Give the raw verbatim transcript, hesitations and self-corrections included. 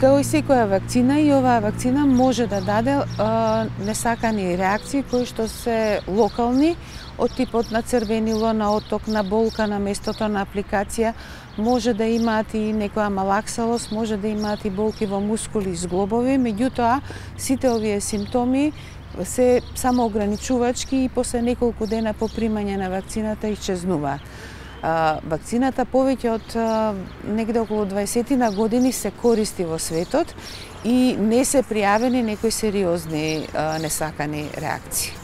Као и секоја вакцина, и оваа вакцина може да даде а, несакани реакции кои што се локални, од типот на црвенило, на отток, на болка на местото на апликација, може да имаат и некоја малаксалост, може да имаат и болки во мускули и зглобови, меѓутоа сите овие симптоми се само ограничувачки и после неколку дена по примање на вакцината исчезнуваат. Вакцината повеќе од негде околу дваесетина години се користи во светот и не се пријавени некои сериозни несакани реакции.